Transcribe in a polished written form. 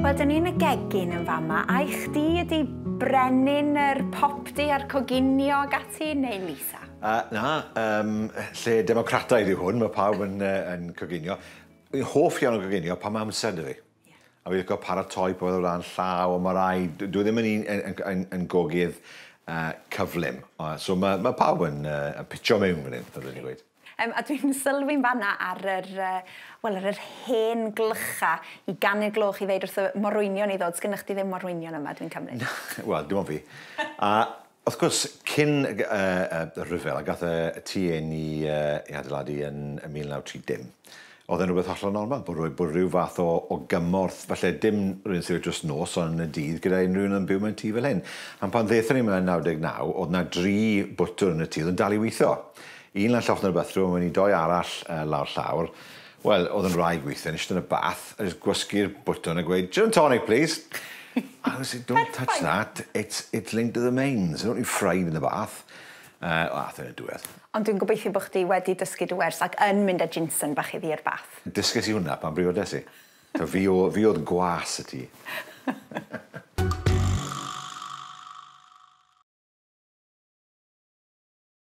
Wel, dyn ni yn y gegin yn fama, a i chdi ydi brenin yr popty a'r coginio ag ati, neu Lisa? Na, lle democrataidd yw hwn, mae pawb yn coginio. Fi'n hoff iawn o goginio pan mae amser 'da fi. A fi'n licio paratoi popeth o flaen llaw, ond mae rai, dwi ddim yn un, yn gogydd cyflym. So mae pawb yn pitcho mewn fan hyn, fel dwi'n gweud. A dwi'n sylwi'n fanna ar yr, wel, ar yr hen glycha i ganu gloch i ddeud wrth y morwynion i ddod. Sgynnych chi ddim morwynion yma, dwi'n cymryd? Wel, dim ond fi. A wrth gwrs, cyn y rhyfel, a gath y tŷ hyn i adeiladu yn 1930, oedd e'n rhywbeth hollol normal, bod rhyw fath o gymorth, falle dim rhywun sydd dros nos, ond yn y dydd, gyda unrhyw un yn byw mewn tŷ fel hyn. A pan ddethon ni mewn 99, oedd na dri bwtwr yn y tŷ, oedd yn dal i weithio. Un lan llofft yn y bathroom, a wedyn doi arall lawr llawr. Wel, oedd yn rhaid gweithio, nes yn y bath, a just gwasgu'r bwtwn a gweud, "Gin and tonic, please." I was like, "Don't touch that, it's linked to the mains. Don't you fried in the bath." Ath yn y diwedd. Ond dwi'n gobeithio bod chdi wedi dysgu dy wers ac yn mynd â ginson bach iddi i'r bath. Dysges i hwnna pan briodes i. So fi oedd gwas y tŷ.